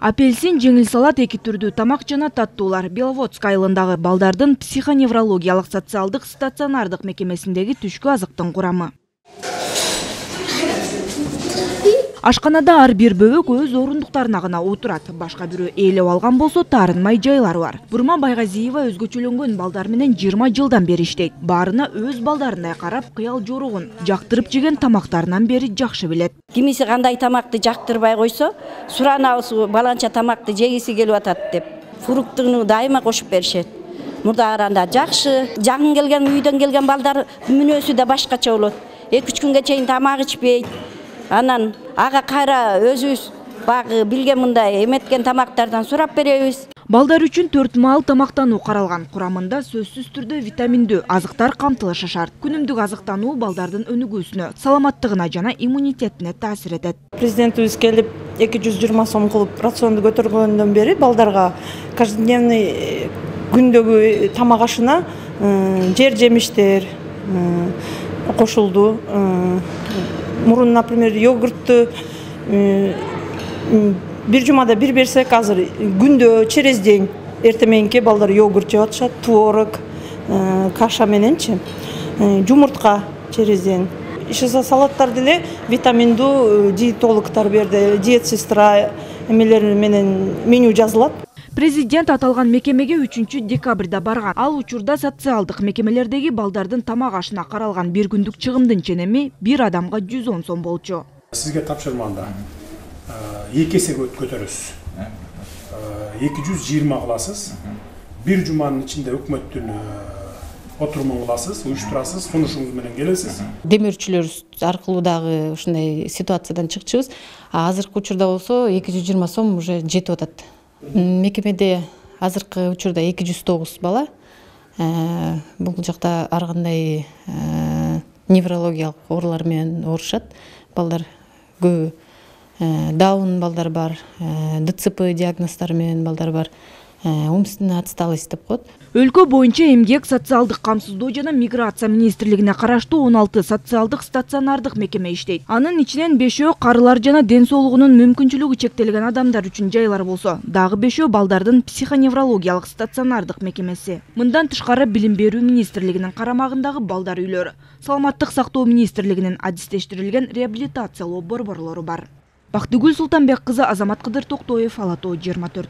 Апельсин, жеңил салат, эки түрдүү тамак жана таттуулар. Беловодск айылындагы балдардын психоневрологиялык социалдык стационардык мекемесиндеги түшкү азыктын курамы. Ашканада ар бир бөбөк өз орундуктарына гана отурат. Башка бирөө ээлеп алган болсо таарынмай жайлары бар. Бурма Байгазиева өзгөчөлөнгөн балдар менен 20 жылдан бери иштейт. Баарына өз балдарындай карап, кыял жоругун, жактырып жеген тамактарынан бери жакшы билет. Кимиси кандай тамакты жактырбай койсо, суранабыз баланча тамакты жегиси келип атат деп, фруктуну дайыма кошуп беришет. Мурда караганда жакшы, жакын келген, үйдөн келген балдар мүнөзү да башкача болот. 2-3 күнгө чейин тамак ичпейт. Анан ага кайра өзүбүз багы билген мындай эметкен тамактардан сурап беребиз. Балдар үчүн 4 маал тамактануу каралган. Курамында сөзсүз түрдө витаминдүү азыктар камтылышы шарт. Күнүмдүк азыктануу балдардын өнүгүүсүнө, саламаттыгына жана иммунитетине таасир этет. Президентибиз келип 220 сом кылып рационду көтөргөндөн бери балдарга каждодневный күндөгү тамак ашына жер жемиштер кошулду. Мурун, например, йогуртту бир жумада бир берсек, азыр күндө через день эртеменки балдар йогурт жеп атышат, творог, каша мененчи, жумуртка через день. Иши салаттар деле витаминдүү диетологдор берди, диетсестра эмелери менен меню жазылат. Президент аталган мекемеге 3 декабрда барган. Ал учурда социалдык мекемелердеги балдардын тамак ашына каралган бир күндүк чыгымдын ченеми бир адамга 110 сом болчу. Сизге тапшырманда 2 эсе көтөрөсүз. 220 кыласыз. Бир жуманын ичинде өкмөттүн отурумун кыласыз, уюштурасыз, сунушуңуз менен келесиз. Демирчүлөр аркылуу дагы ушундай ситуациядан чыкчубуз. Азыркы учурда болсо 220 сом уже жетип атат. Мекемеде азыркы учурда 209 бала. Бул жакта ар кандай неврологиялык оорулар менен оорушат. Балдар көбү даун балдар бар, ДЦП диагноздары менен балдар бар. Умственная отсталость деп коет. Өлкө боюнча эмгек, социалдык камсыздоо жана миграция министрлигине караштуу 16 социалдык стационардык мекеме иштейт. Анын ичинен 5өө карылар жана ден соолугунун мүмкүнчүлүгү чектелген адамдар үчүн жайлар болсо, дагы 5өө балдардын психоневрологиялык стационардык мекемеси. Мындан тышкары Билим берүү министрлигинин карамагындагы балдар үйлөрү, Саламаттык сактоо министрлигинин адистештирилген реабилитациялоо борборлору бар. Бактыгүл Султанбек кызы, Азамат Кыдыр Токтоев, Ала Тоо 24.